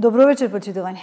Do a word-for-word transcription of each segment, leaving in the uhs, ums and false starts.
Добро вечер, почитувани.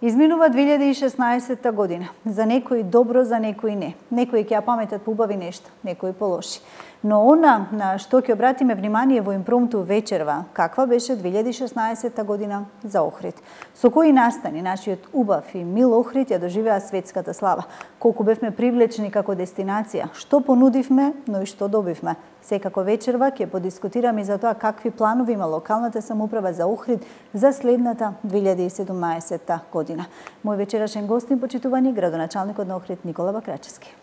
Изминува две илјади и шеснаесетта година. За некои добро, за некои не. Некои ќе ја паметат по убави нешта, некои по лоши. Но она на што ќе обратиме внимание во импромту вечерва, каква беше две илјади и шеснаесетта година за Охрид. Со кои настани нашиот убав и мил Охрид ја доживеа светската слава. Колку бевме привлечени како дестинација, што понудивме, но и што добивме. Секако вечерва ќе подискутираме и за тоа какви планови има локалната самоуправа за Охрид за следната две илјади и седумнаесетта година. Мој вечерашен гостин, почитувани, градоначалникот на Охрид Никола Бакрачевски.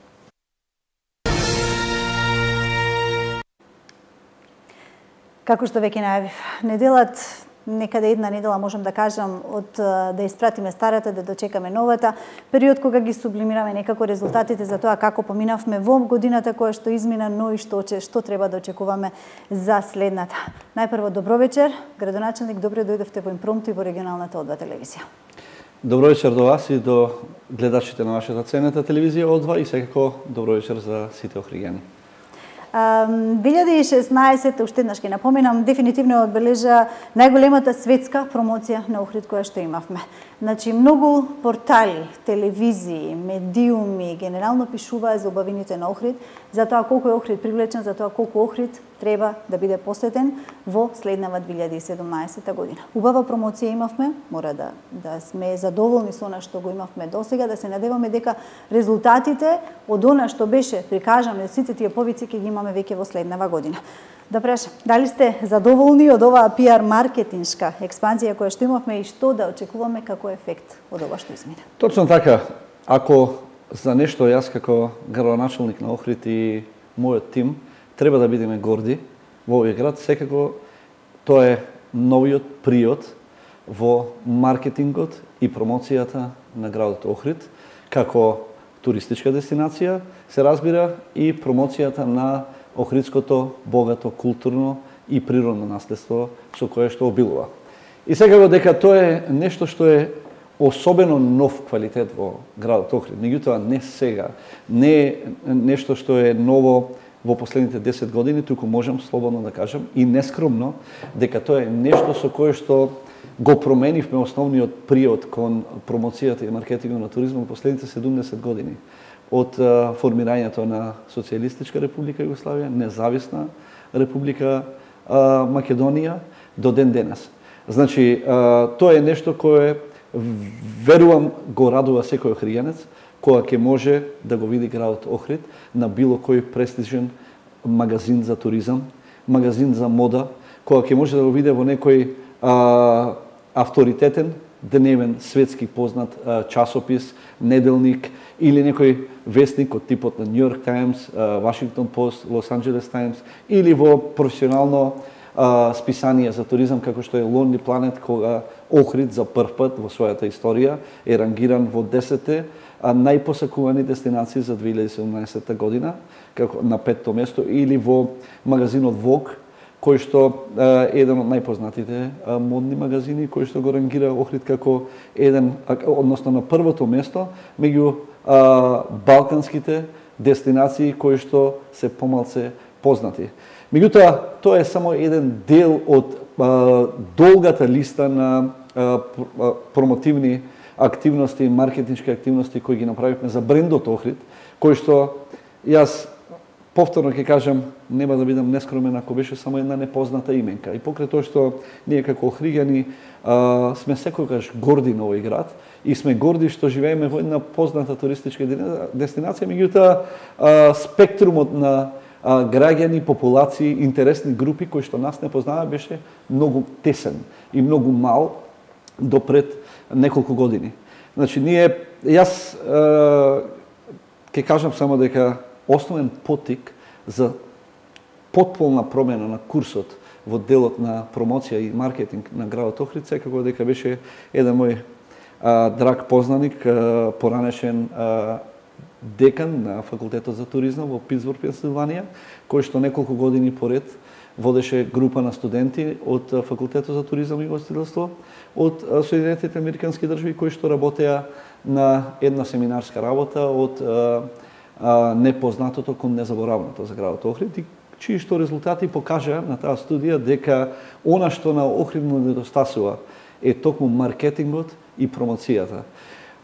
Како што веќе најавив, неделат, некаде една недела можам да кажам, од да испратиме старата, да дочекаме новата, период кога ги сублимираме некако резултатите за тоа како поминавме во годината која што измина, но и што, што треба да очекуваме за следната. Најпрво, добро вечер, градоначалник, добро дојдовте во импромту и во регионалната О два телевизија. Добро вечер до вас и до гледачите на вашата ценета телевизија О два и секако добро вечер за сите охриѓани. две илјади и шеснаесетта, уште еднаш ќе напоменам, дефинитивно одбележа најголемата светска промоција на Охрид која што имавме. Значи, многу портали, телевизии, медиуми генерално пишуваа за убавините на Охрид, за тоа колку е Охрид привлечен, за тоа колку Охрид треба да биде посетен во следнава две илјади и седумнаесетта година. Убава промоција имавме, мора да, да сме задоволни со она што го имавме досега, да се надеваме дека резултатите од она што беше прикажано од сите тие повици ќе ги имаме веќе во следнава година. Да прашам, дали сте задоволни од оваа пиар маркетиншка експанзија која што имавме и што да очекуваме како ефект од ова што измина? Точно така. Ако за нешто јас како градоначалник на Охрид и мојот тим треба да бидеме горди во овој град, секако тоа е новиот приод во маркетингот и промоцијата на градот Охрид како туристичка дестинација, се разбира, и промоцијата на охридското богато културно и природно наследство со кое што обилува. И секако дека тоа е нешто што е особено нов квалитет во градот Охрид. Меѓутоа не сега, не е нешто што е ново во последните десет години, туку можам слободно да кажам и нескромно дека тоа е нешто со кое што го променивме основниот приод кон промоцијата и маркетингот на туризмот во последните седумдесет години. Од uh, формирањето на Социјалистичка република Југославија, независна република uh, Македонија до ден денес. Значи, uh, тоа е нешто кое верувам го радува секој охриѓанец кога ќе може да го види градот Охрид на било кој престижен магазин за туризам, магазин за мода, кога ќе може да го види во некој uh, авторитетен дневен светски познат uh, часопис, неделник или некој вестник од типот на Нью Йорк Таймс, Вашингтон Пост, Лос Анџелес Таймс или во професионално uh, списание за туризам како што е Lonely Planet, кога Охрид за прв пат во својата историја е рангиран во десетте најпосакувани дестинации за две илјади и седумнаесетта година, како на петто место, или во магазинот Vogue, кој што е еден од најпознатите модни магазини, кој што го рангира Охрид како еден, односно на првото место меѓу балканските дестинации кои што се помалце познати. Меѓутоа, тоа е само еден дел од а, долгата листа на а, промотивни активности, маркетиншки активности кои ги направивме за брендот Охрид, кој што јас повторно ќе кажам, нема да бидам нескромен ако беше само една непозната именка. И покрај тоа што ние како охриѓани а, сме секогаш горди на овој град и сме горди што живееме во една позната туристичка дестинација, меѓутоа спектрумот на а, граѓани, популации, интересни групи кои што нас не познава беше многу тесен и многу мал до пред неколку години. Значи ние јас ќе кажам само дека основен поттик за потполна промена на курсот во делот на промоција и маркетинг на градот Охрид секако дека беше еден мој а, драг познаник, а, поранешен а, декан на факултетот за туризам во Питсбург, Пенсилванија, кој што неколку години поред водеше група на студенти од факултетот за туризам и гостителство од Соединетите американски држави кои што работеа на една семинарска работа од а, а, непознатото кон незаборавното за градот Охрид, и чии што резултати покажаа на таа студија дека она што на Охрид му недостасува е токму маркетингот и промоцијата.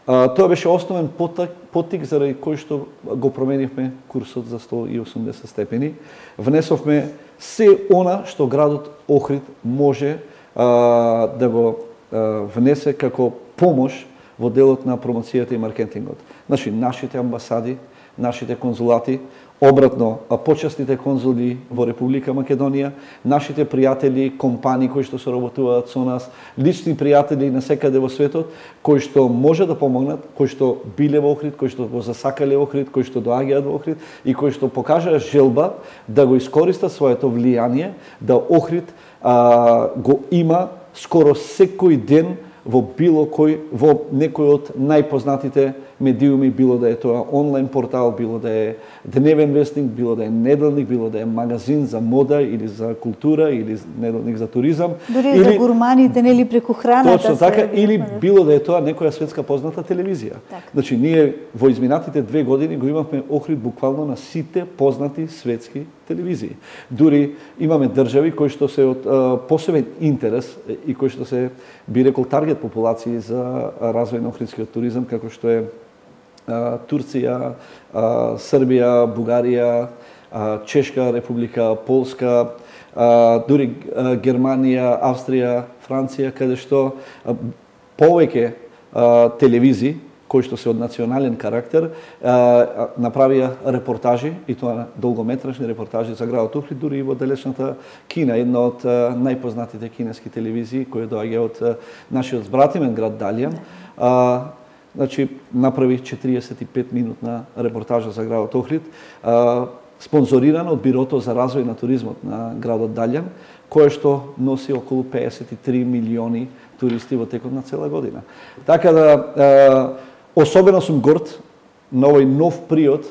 А, тоа беше основен потик, потик заради кој што го променивме курсот за сто и осумдесет степени. Внесовме се она што градот Охрид може а, да го а, внесе како помош во делот на промоцијата и маркетингот. Значи, нашите амбасади, нашите конзулати, обратно, почесните конзули во Република Македонија, нашите пријатели, компании кои што соработуваат со нас, лични пријатели насекаде во светот, кои што може да помогнат, кои што биле во Охрид, кои што го засакале Охрид, кои што доаѓаат во Охрид и кои што покажаа желба да го искористат своето влијание, да Охрид а, го има скоро секој ден во било кој, во некој од најпознатите медиуми, било да е тоа онлайн портал, било да е дневен вестник, било да е неделник, било да е магазин за мода или за култура или неделник за туризам. Дури или за гурманите, нели преку храната. Точно така, или било да е тоа некоја светска позната телевизија. Так. Значи, ние во изминатите две години го имавме Охрид буквално на сите познати светски телевизии. Дури имаме држави кои што се од а, посебен интерес и кои што се би рекол таргет популации за развој на охридскиот туризам, како што е а, Турција, а, Србија, Бугарија, а, Чешка република, Полска, а, дури а, Германија, Австрија, Франција, каде што а, повеќе а, телевизии кои што се од национален карактер, а, направија репортажи, и тоа долгометражни репортажи за градот Охрид, дури и во далечната Кина, една од а, најпознатите кинески телевизии, која доаѓа од а, нашиот збратимен град Далјан. А, значи, направи четириесет и пет минутна репортажа за градот Охрид, а, спонзорирана од Бирото за развој на туризмот на градот Далјан, кое што носи околу пеесет и три милиони туристи во текот на цела година. Така да, а, особено сум горд на овој нов приод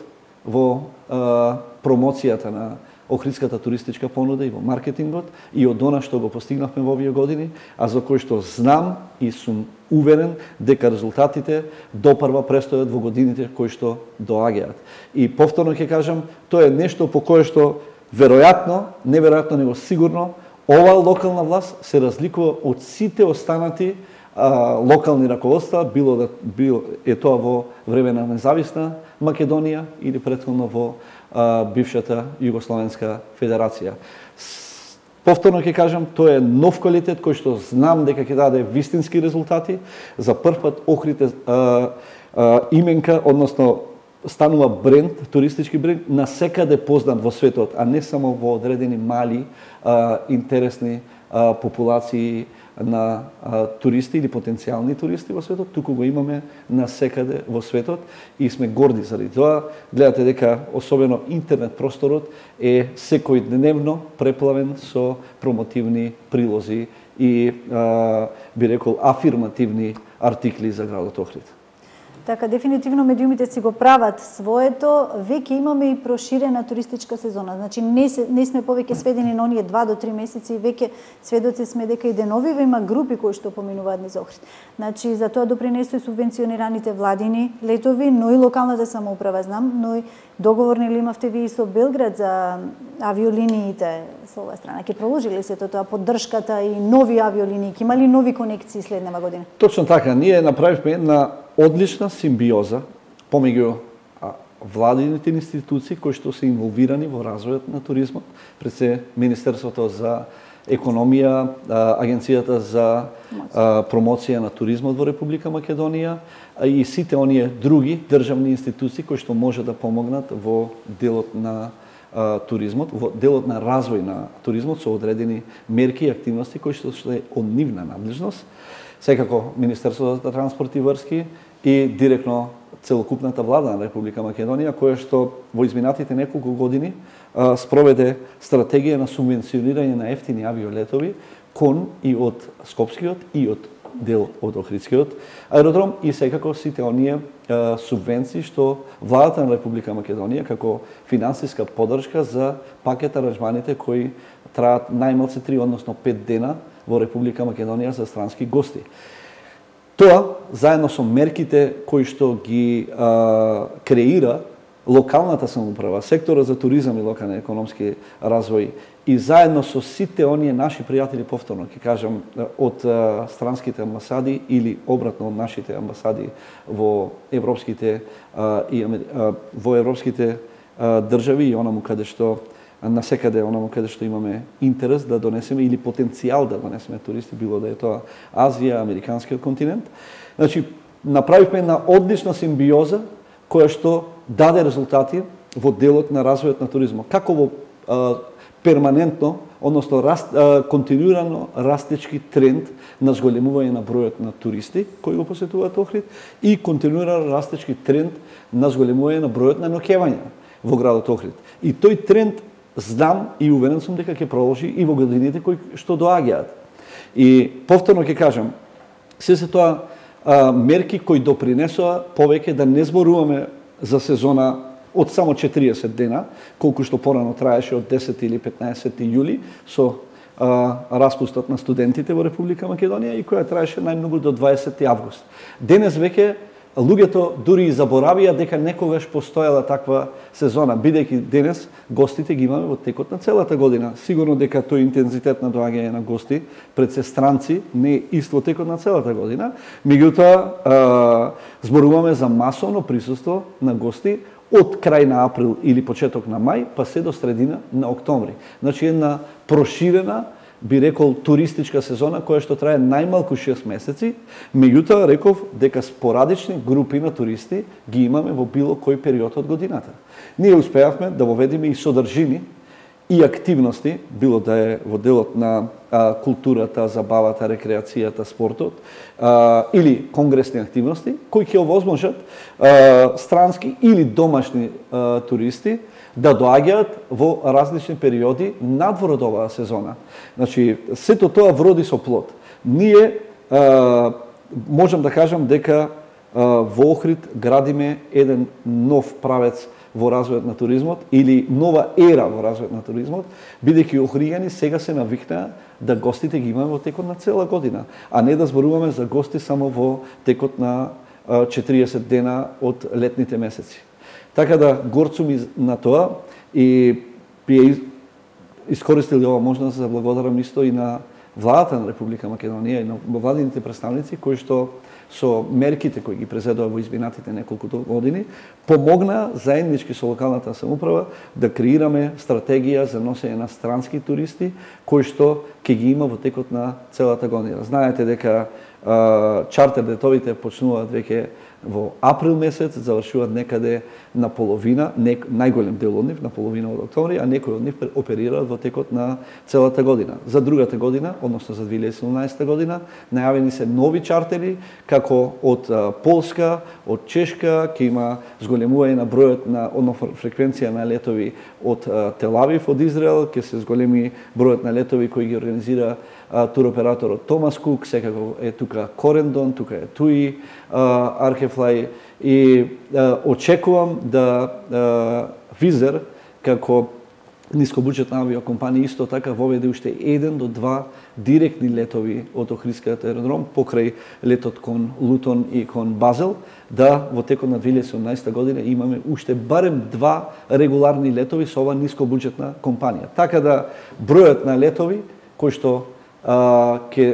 во а, промоцијата на охридската туристичка понуда и во маркетингот и од она што го постигнавме во овие години, а за кој што знам и сум уверен дека резултатите допрва престојат во годините кои што доаѓаат. И повторно ќе кажам, тоа е нешто по кое што веројатно, неверојатно, него сигурно, ова локална власт се разликува од сите останати а, локални раководства, било да било е тоа во време на независна Македонија или претходно во а, бившата Југословенска федерација. С, повторно ќе кажам, тоа е нов квалитет кој што знам дека ќе даде вистински резултати. За прв пат Охрид е а, а, именка, односно станува бренд, туристички бренд, насекаде познат во светот, а не само во одредени мали, а, интересни а, популации на а, туристи или потенцијални туристи во светот, туку го имаме насекаде во светот и сме горди заради тоа. Гледате дека особено интернет просторот е секојдневно преплавен со промотивни прилози и а, би рекол афирмативни артикли за градот Охрид. Така, дефинитивно медиумите си го прават своето, веќе имаме и проширена туристичка сезона. Значи, не, се, не сме повеќе сведени на оние два до три месеци, веќе сведоци сме дека и деновиве има групи кои што поминуваат низ Охрид. Значи, за тоа допринесува субвенционираните владини летови, но и локалната самоуправа, знам, но и договорни ли имавте ви и со Белград за авиолиниите со оваа страна? Ќе продолжи ли се тоа поддршката и нови авиолинии? Ќе има ли нови конекции следнава година? Точно така, ние направивме една одлична симбиоза помеѓу владините институции кои што се инволвирани во развојот на туризмот, пред се Министерството за економија, Агенцијата за промоција на туризмот во Република Македонија и сите оние други државни институции кои што може да помогнат во делот на туризмот, во делот на развој на туризмот со одредени мерки и активности кои што е од нивна надлежност. Секако Министерството за транспорт и врски и директно целокупната влада на Република Македонија, која што во изминатите неколку години а, спроведе стратегија на субвенционирање на ефтини авиолетови кон и од Скопскиот и од дел од Охридскиот аеродром и секако сите оние а, субвенции што владата на Република Македонија како финансиска поддршка за пакет аранжманите кои траат најмалку три, односно пет дена во Република Македонија за странски гости. Тоа, заедно со мерките кои што ги а, креира локалната самоуправа, сектора за туризам и локален економски развој и заедно со сите оние наши пријатели, повторно ќе кажам, од странските амбасади или обратно од нашите амбасади во европските и во европските држави и онаму каде што насекаде онаму каде што имаме интерес да донесеме или потенцијал да донесеме туристи, било да е тоа Азија, американскиот континент. Значи, направивме една одлична симбиоза која што даде резултати во делот на развојот на туризмот. Како во а, перманентно, односно раст, а, континуирано растечки тренд на зголемување на бројот на туристи кои го посетуваат Охрид и континуирано растечки тренд на зголемување на бројот на ноќевања во градот Охрид. И тој тренд знам и уверен сум дека ќе продолжи и во годините кои што доаѓаат. И повторно ќе кажам, се се тоа а, мерки кои допринесоа повеќе да не зборуваме за сезона од само четириесет дена, колку што порано траеше од десет или петнаесет јули со а, распустот на студентите во Република Македонија и која траеше најмногу до дваесети август. Денес веќе луѓето дури и заборавија дека некогаш постоела таква сезона, бидејќи денес гостите ги имаме во текот на целата година. Сигурно дека тој интензитет на доаѓање на гости пред се странци не е ист во текот на целата година, меѓутоа зборуваме за масовно присуство на гости од крај на април или почеток на мај, па се до средина на октомври. Значи една проширена, би рекол, туристичка сезона која што трае најмалку шест месеци, меѓутоа реков дека спорадични групи на туристи ги имаме во било кој период од годината. Ние успеавме да воведеме и содржини и активности, било да е во делот на а, културата, забавата, рекреацијата, спортот, а, или конгресни активности, кои ќе овозможат а, странски или домашни а, туристи да доаѓаат во различни периоди надвор од оваа сезона. Значи, сето тоа вроди со плод. Ние а, можам да кажам дека а, во Охрид градиме еден нов правец во развојот на туризмот или нова ера во развојот на туризмот, бидејќи охријани сега се навикнаа да гостите ги имаме во текот на цела година, а не да зборуваме за гости само во текот на четириесет дена од летните месеци. Така да горцум на тоа и би искористил ова можност за благодарам исто и на владата на Република Македонија и на владините представници кои што со мерките кои ги презедува во изминатите неколку години помогна заеднички со локалната самоуправа да креираме стратегија за носење на странски туристи кои што ќе ги има во текот на целата година. Знаете дека а, чартер летовите почнуваат веќе во април месец, завршуваат некаде на половина, не, најголем дел од нив на половина од октомври, а некои од нив оперираат во текот на целата година. За другата година, односно за две илјади и седумнаесета година, најавени се нови чартери, како од а, Полска, од Чешка, ќе има зголемување на бројот на, односно фреквенција на летови од а, Тел Авив, од Израел, ќе се зголеми бројот на летови кои ги организира а, туроператорот Томас Кук, секако е тука Корендон, тука е Туи, Аркефлај и а, очекувам да а, Визер како нискобуџетна авиокомпанија исто така воведе уште еден до два директни летови од Охридскиот аеродром покрај летот кон Лутон и кон Базел, да во текот на две илјади и седумнаесета година имаме уште барем два регуларни летови со ова нискобуџетна компанија. Така да бројот на летови кои што ќе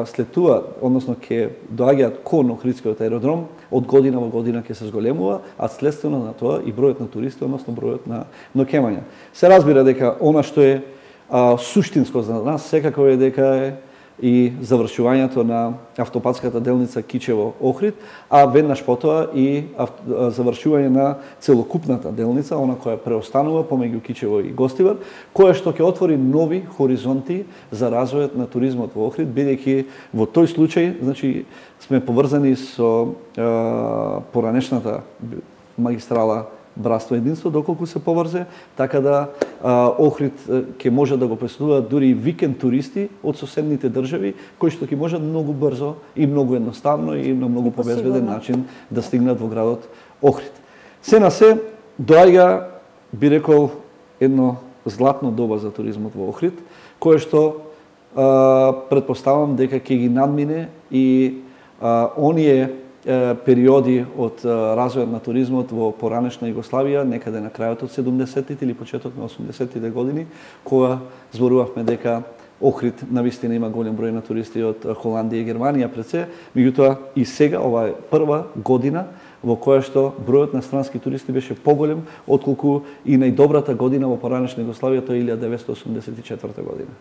слетуваат, односно ќе доаѓаат кон Охридскиот аеродром, од година во година ќе се зголемува, а следствено на тоа и бројот на туристи, односно бројот на ноќевања. Се разбира дека она што е а, суштинско за нас секако е дека е и завршувањето на автопатската делница Кичево-Охрид, а веднаш потоа и авто, завршување на целокупната делница, она која преостанува помеѓу Кичево и Гостивар, која што ќе отвори нови хоризонти за развојот на туризмот во Охрид, бидејќи во тој случај, значи, сме поврзани со е, поранешната магистрала Братство единство, доколку се поврзе, така да а, Охрид ќе може да го посетуваат дури и викенд туристи од соседните држави, кои што ќе можат многу брзо и многу едноставно и на многу побезбеден начин да стигнат во градот Охрид. Се на се доаѓа, би рекол, едно златно доба за туризмот во Охрид, кое што а, предпоставам дека ќе ги надмине и а, оние периоди од развојот на туризмот во поранешна Југославија, некаде на крајот од седумдесеттите или почеток на осумдесеттите години, кога зборувавме дека Охрид навистина има голем број на туристи од Холандија и Германија пред се, меѓутоа и сега ова е прва година во која што бројот на странски туристи беше поголем отколку и најдобрата година во поранешна Југославија, тоа е илјада деветстотини осумдесет и четврта година.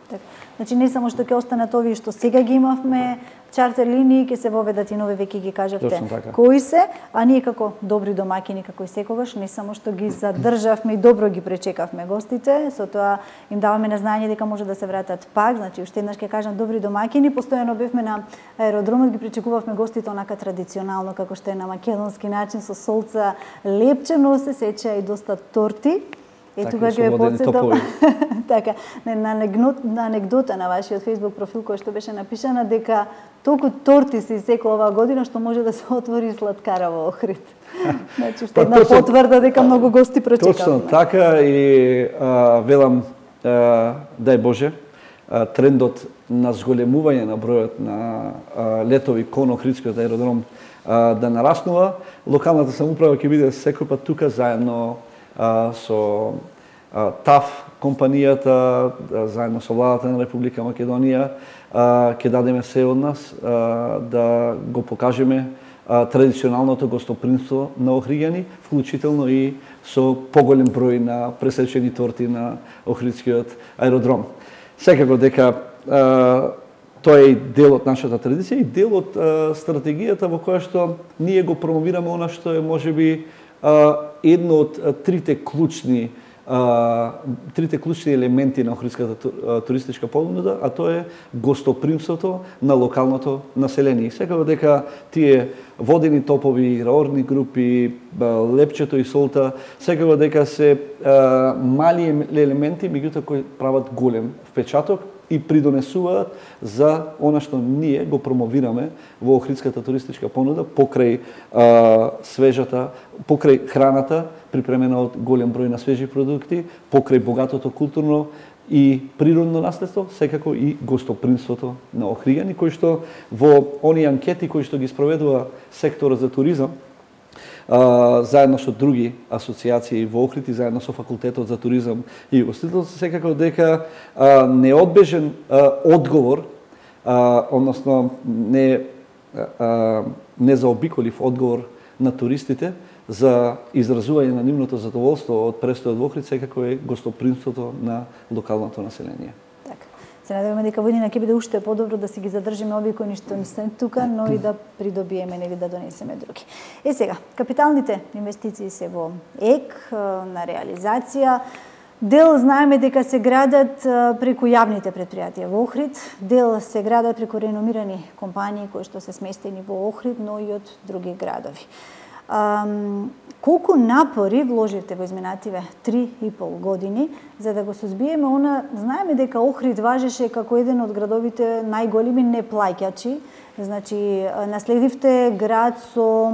Так. Значи не само што ќе останат овие што сега ги имавме чартер линии, ќе се воведат и нови, веќе ги кажавте кои се, а ние како добри домаќини, како и секогаш, не само што ги задржавме и добро ги пречекавме гостите, со тоа им даваме на знање дека може да се вратат пак, значи уште еднаш ќе кажам добри домаќини, постојано бевме на аеродромот, ги пречекувавме гостите онака традиционално како што е на македонски начин со солца лепчено, се сеча и доста торти. Е, тука ќе ве потсетам така, на анегдота на вашиот Facebook профил кој што беше напишана дека толку торти се исекоа оваа година што може да се отвори сладкара во Охрид. Значи што една потврда дека многу гости прочекавме. Точно така и а, велам а, дај Боже а, трендот на зголемување на бројот на а, летови кон Охридскиот аеродром а, да нараснува. Локалната самоуправа ќе биде секој пат тука заедно а, со а, ТАФ компанијата, а, заедно со владата на Република Македонија, а, ќе дадеме се од нас а, да го покажеме а, традиционалното гостопримство на охриѓани, вклучително и со поголем број на пресечени торти на Охридскиот аеродром. Секако дека а, тоа е дел од нашата традиција и дел од а, стратегијата во која што ние го промовираме она што е можеби а, едно од а, трите клучни а, трите клучни елементи на охридската туристичка понуда, а тоа е гостопримството на локалното население. И секако дека тие водени топови, раорни групи, лепчето и солта, секако дека се а, мали елементи, меѓутоа кои прават голем впечаток и придонесуваат за она што ние го промовираме во охридската туристичка понуда покрај а, свежата, покрај храната припремена од голем број на свежи продукти, покрај богатото културно и природно наследство, секако и гостопримството на охриѓани, кои што во оние анкети кои што ги спроведува секторот за туризам, Uh, заедно со други асоциации во Охрид и заедно со факултетот за туризам и гостителство, секако дека uh, неодбежен uh, одговор, uh, односно не uh, незаобиколив одговор на туристите за изразување на нивното задоволство од престојот во Охрид, секако е гостопримството на локалното население. Се надеваме дека водина ќе биде уште подобро да си ги задржиме овие кои ништо не се тука, но и да придобиеме или да донесеме други. Е сега, капиталните инвестиции се во ЕК, на реализација. Дел знаеме дека се градат преку јавните предпријатија во Охрид, дел се градат преку реномирани компании кои што се сместени во Охрид, но и од други градови. Um, колку напори вложивте во изминативе три и пол години за да го сузбиеме она, знаеме дека Охрид важеше како еден од градовите најголеми неплаќачи, значи наследивте град со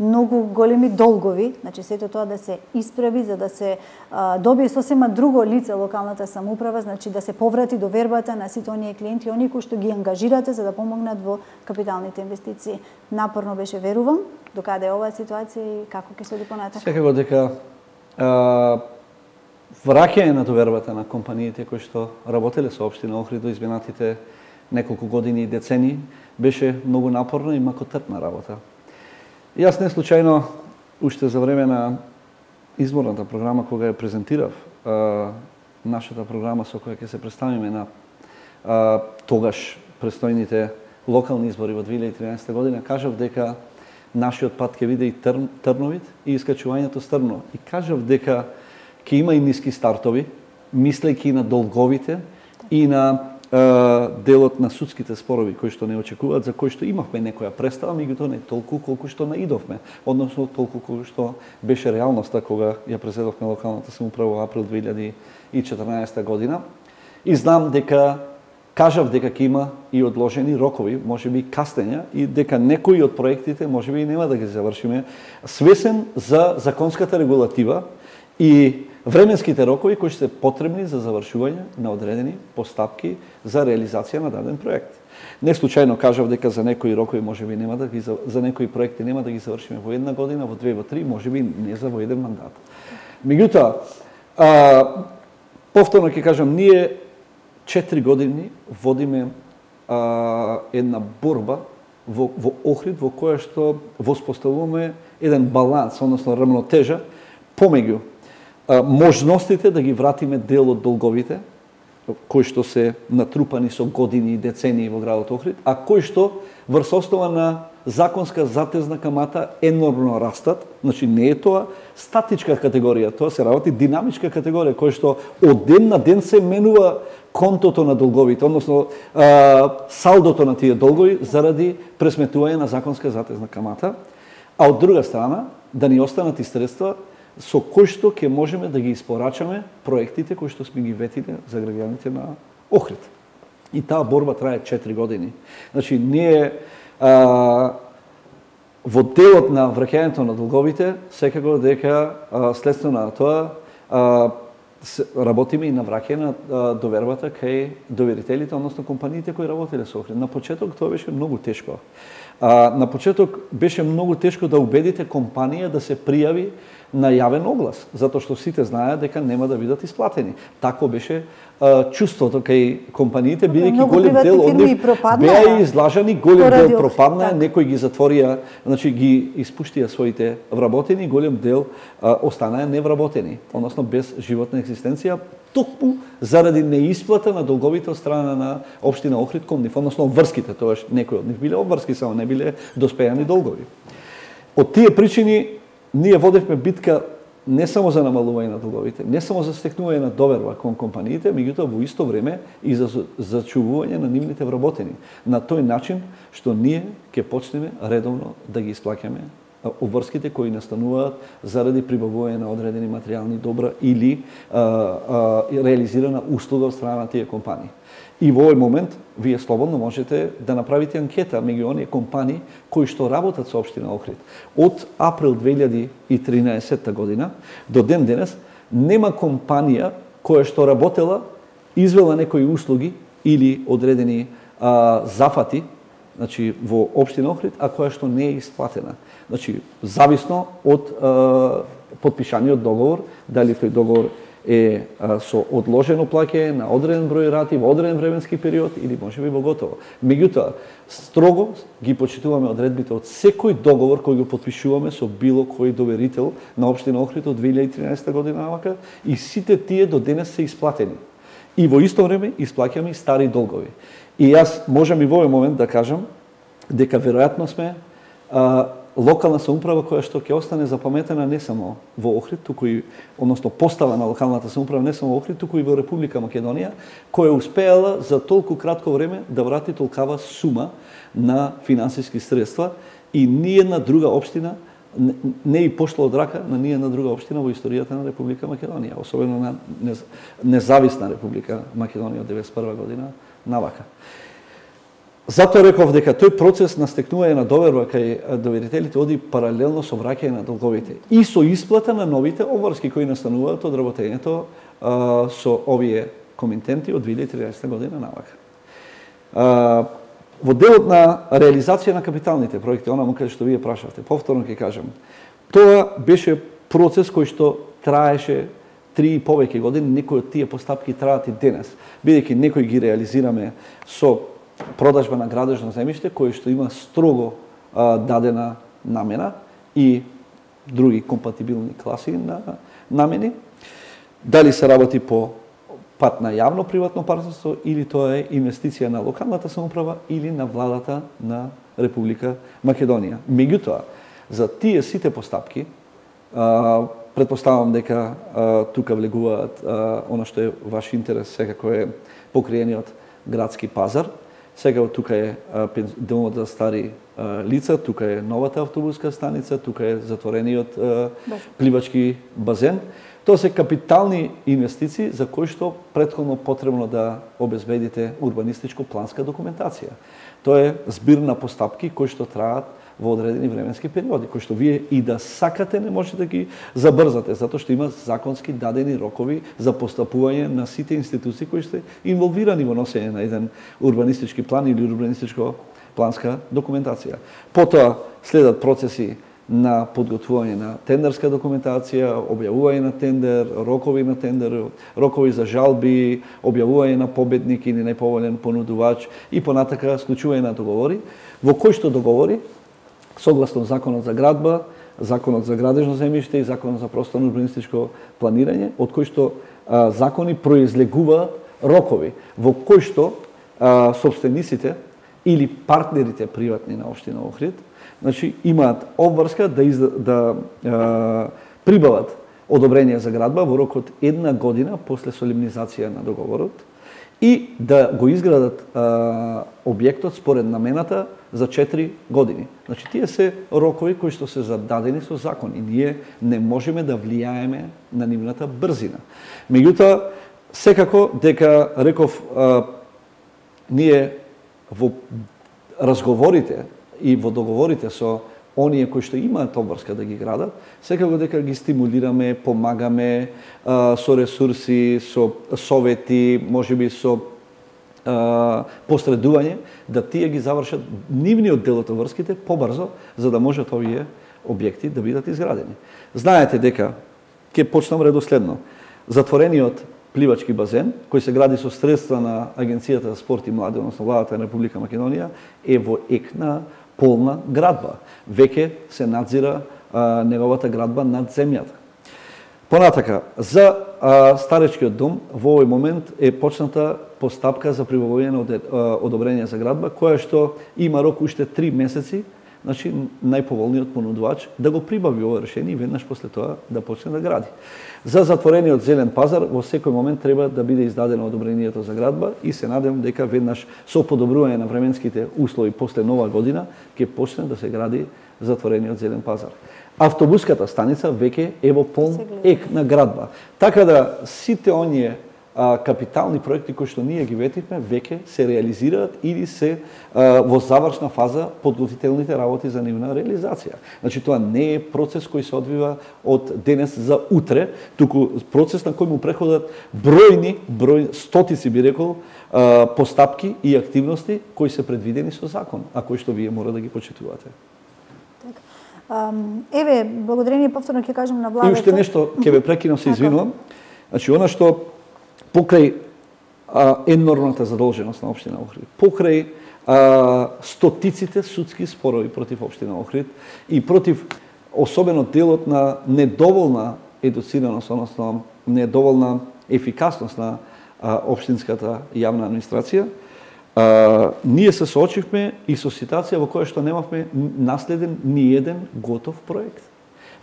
многу големи долгови, значи сето тоа да се исправи за да се а, добие сосема друго лице локалната самоуправа, значи да се поврати довербата на сите оние клиенти, оние кои што ги ангажирате за да помогнат во капиталните инвестиции. Напорно беше, верувам, докаде е оваа ситуација и како ќе се оди понатак? Секако дека а, враќање на довербата на компаниите кои што работеле со општина Охрид до изминатите неколку години и децени беше многу напорна и макотрпна работа. Јас не случајно уште за време на изборната програма кога ја презентирав а, нашата програма со која ќе се представиме на а, тогаш престојните локални избори во две илјади и тринаесетта година, кажав дека нашиот пат ќе биде и тр, трновит и искачувањето стрмно. И кажав дека ќе има и ниски стартови, мислејќи на долговите и на е, делот на судските спорови кои што не очекуваат, за кои што имавме некоја представа, меѓутоа не толку колку што наидовме, односно толку колку што беше реалноста кога ја преседовме локалната самоуправа во април две илјади и четрнаесетта година. И знам дека кажав дека ќе има и одложени рокови, можеби кастења, и дека некои од проектите можеби и нема да ги завршиме. Свесен за законската регулатива и временските рокови кои се потребни за завршување на одредени постапки за реализација на даден проект. Не случајно кажав дека за некои рокови можеби нема да ги за некои проекти нема да ги завршиме во една година, во две, во три, можеби не за во еден мандат. Меѓутоа, а, повторно ќе кажам, ние четири години водиме а, една борба во, во Охрид, во која што воспоставуваме еден баланс, односно рамнотежа помеѓу а, можностите да ги вратиме дел од долговите, кои што се натрупани со години и децении во градот Охрид, а кои што врз основа на законска затезна камата енормно растат. Значи не е тоа статичка категорија, тоа се работи динамичка категорија, која што од ден на ден се менува контото на долговите, односно а, салдото на тие долгови заради пресметување на законска затезна камата, а од друга страна да ни останат и средства со кои што ќе можеме да ги испорачаме проектите кои што сме ги ветиле за граѓаните на Охрид. И таа борба трае четири години. Значи, ние а, во делот на враќањето на долговите, секако дека а, следствено на тоа а, работиме и на враќање на а, довербата кај доверителите, односно компаниите кои работеле со Охрид. На почеток тоа беше многу тешко. А, на почеток беше многу тешко да убедите компанија да се пријави на јавен оглас, затоа што сите знаеат дека нема да бидат исплатени. Тако беше а, чувството кај компаниите, бидејќи голем дел од нив беа излажани, голем дел пропадна, так. Некои ги затворија, значи ги испуштија своите вработени, голем дел а, останаа невработени, односно без животна екзистенција, токму заради неисплата на долговите од страна на општина Охрид кон нив, односно врските, тоаш некои од нив биле обврски, само не биле доспејани долгови. Од тие причини ние водевме битка не само за намалување на долговите, не само за стекнување на доверба кон компаниите, меѓутоа во исто време и за зачувување на нивните вработени. На тој начин што ние ќе почнеме редовно да ги исплаќаме обврските кои настануваат заради прибавување на одредени материјални добра или а, а, реализирана услуга од страна на тие компании. И во овој момент вие слободно можете да направите анкета меѓу оние компании кои што работат со општина Охрид. Од април две илјади и тринаесетта година до ден денес нема компанија која што работела, извела некои услуги или одредени а, зафати, значи во општина Охрид, а која што не е исплатена. Значи зависно од а, потпишаниот договор, дали тој договор е а, со одложено плаќање на одреден број рати во одреден временски период или можеби во готово. Меѓутоа, строго ги почитуваме одредбите од секој договор кој го потпишуваме со било кој доверител на општина Охрид од две илјади и тринаесетта година навака и сите тие до денес се исплатени. И во исто време исплаќаме и стари долгови. И јас можам и во овој момент да кажам дека веројатно сме а, локална самоуправа која што ќе остане запаметена не само во Охрид, туку и, односно постава на локалната самоуправа не само во Охрид, туку и во Република Македонија, која успеала за толку кратко време да врати толкава сума на финансиски средства и ниедна друга општина не, не и пошла од рака на ниедна друга општина во историјата на Република Македонија, особено на независна Република Македонија од деветдесет и прва година навака. Затоа реков дека тој процес на стекнување на доверба кај доверителите оди паралелно со враќање на долговите и со исплата на новите обврски кои настануваат од работењето а, со овие комитенти од две илјади и тринаесетта година навака. А, во делот на реализација на капиталните проекти, онаму каде што вие прашавте, повторно ќе кажам, тоа беше процес кој што траеше три и повеќе години, некои од тие постапки траат и денес, бидејќи некои ги реализираме со продажба на градежно земјиште кој што има строго а, дадена намена и други компатибилни класи на намени. Дали се работи по пат на јавно-приватно партнерство или тоа е инвестиција на локалната самоуправа или на владата на Република Македонија. Меѓутоа, за тие сите постапки, а, предпоставам дека а, тука влегуваат а, она што е ваш интерес, секако е покриениот градски пазар. Сега тука е домот за стари а, лица, тука е новата автобуска станица, тука е затворениот а, пливачки базен. Тоа се капитални инвестиции за кои што претходно потребно да обезбедите урбанистичко-планска документација. Тоа е збир на постапки кои што траат во одредени временски периоди, кои што вие и да сакате не можете да ги забрзате, затоа што има законски дадени рокови за постапување на сите институции кои сте инволвирани во носење на еден урбанистички план или урбанистичко планска документација. Потоа следат процеси на подготвување на тендерска документација, објавување на тендер, рокови на тендер, рокови за жалби, објавување на победник или најповолен понудувач и понатака склучување на договори, во кои што договори, согласно Законот за градба, Законот за градежно земјиште и Законот за просторно урбанистичко планирање, од кои што а, закони произлегуваат рокови, во кои што а, собствениците или партнерите приватни на општина Охрид, значи имаат обврска да, изда, да а, прибават одобрение за градба во рок од една година после солемнизација на договорот и да го изградат а, објектот според намената за четири години. Значи тие се рокови кои што се зададени со закон и ние не можеме да влијаеме на нивната брзина. Меѓутоа, секако дека реков а, ние во разговорите и во договорите со оние кои што имаат обврска да ги градат, секако дека ги стимулираме, помагаме а, со ресурси, со совети, можеби со а, посредување, да тие ги завршат нивниот дел од обврските побрзо, за да можат овие објекти да бидат изградени. Знаете дека, ќе почнам редоследно, затворениот пливачки базен, кој се гради со средства на Агенцијата за спорт и млади, односно владата на Република Македонија, е во ек на полна градба. Веќе се надзира а, неговата градба над земјата. Понатака, за а, старечкиот дом во овој момент е почната постапка за прибавување на одобрение за градба, која што има рок уште три месеци, значи најповолниот понудувач да го прибави ова решение и веднаш после тоа да почне да гради. За затворениот зелен пазар во секој момент треба да биде издадено одобрението за градба и се надевам дека веднаш со подобрување на временските услови после нова година ќе почне да се гради затворениот зелен пазар. Автобуската станица веќе е во полн ек на градба. Така да сите оние а, капитални проекти кои што ние ги ветивме веќе се реализираат или се а, во завршна фаза подготвителните работи за нивна реализација. Значи тоа не е процес кој се одвива од денес за утре, туку процес на кој му преходат бројни, број стотици би рекол, а, постапки и активности кои се предвидени со закон, а кои што вие мора да ги почитувате. Um, еве, благодарение повторно ќе кажам на владата. И уште нешто, ќе ве прекинам, се извинувам. Значи, она што покрај а, енормната задолженост на општина Охрид, покрај а, стотиците судски спорови против општина Охрид и против особено делот на недоволна едуцираност, односно недоволна ефикасност на а, општинската јавна администрација, А, ние се соочивме и со ситуација во која што немавме наследен ни еден готов проект.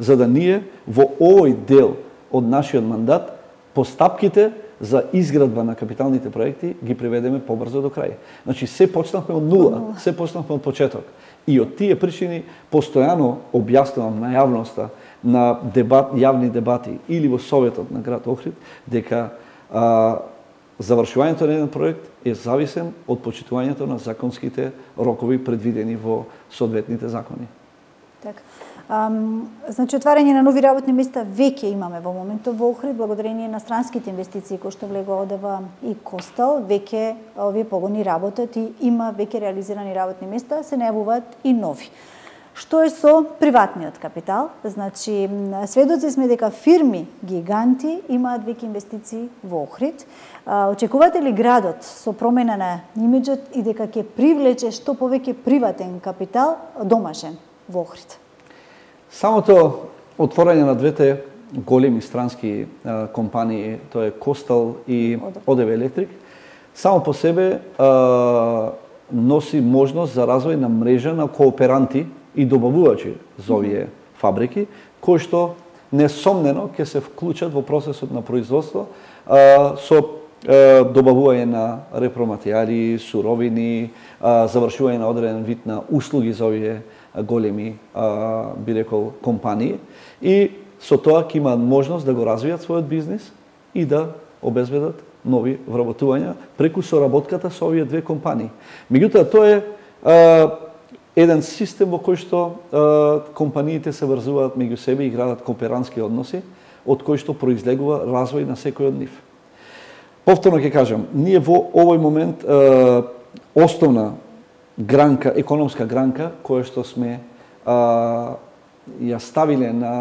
За да ние во овој дел од нашиот мандат постапките за изградба на капиталните проекти ги приведеме побрзо до крај. Значи се почнавме од нула, се почнавме од почеток. И од тие причини постојано објаснувам на јавноста, на дебат, јавни дебати или во Советот на град Охрид дека а, завршувањето на еден проект е зависен од почитувањето на законските рокови предвидени во соодветните закони. Така. Um, значи, отварање на нови работни места веќе имаме во моментот во Охрид, благодарение на странските инвестиции кои што влегува одева и Костал, веќе овие погони работат и има веќе реализирани работни места, се најавуваат и нови. Што е со приватниот капитал? Значи, сведоци сме дека фирми гиганти имаат веќе инвестиции во Охрид. Очекувате ли градот со промена на имиџот и дека ќе привлече што повеќе приватен капитал домашен во Охрид? Самото отворање на двете големи странски а, компании, тоа е Костал и ОДВ Електрик, само по себе а, носи можност за развој на мрежа на кооперанти и добавувачи за овие фабрики, кои што несомнено ќе се вклучат во процесот на производство а, со а, добавување на репроматеријали, суровини, а, завршување на одреден вид на услуги за овие големи, а, би рекол, компании и со тоа ќе имаат можност да го развијат својот бизнис и да обезбедат нови вработувања преку соработката со овие две компании. Меѓутоа, тоа е а, еден систем во кој што е, компаниите се врзуваат меѓу себе и градат кооперантски односи, од кој што произлегува развој на секој од нив. Повторно ќе кажам, ние во овој момент е, основна гранка, економска гранка, која што сме а, ја ставиле на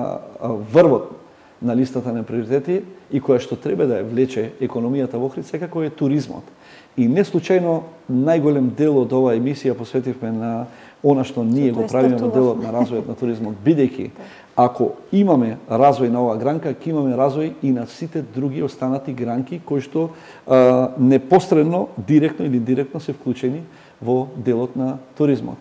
а, врвот на листата на приоритети и која што треба да ја влече економијата во Охрид, секако е туризмот. И не случајно најголем дел од оваа емисија посветивме на она што ние го правиме во делот на развојот на туризмот, бидејќи ако имаме развој на оваа гранка, ќе имаме развој и на сите други останати гранки кои што а, непосредно, директно или директно се вклучени во делот на туризмот.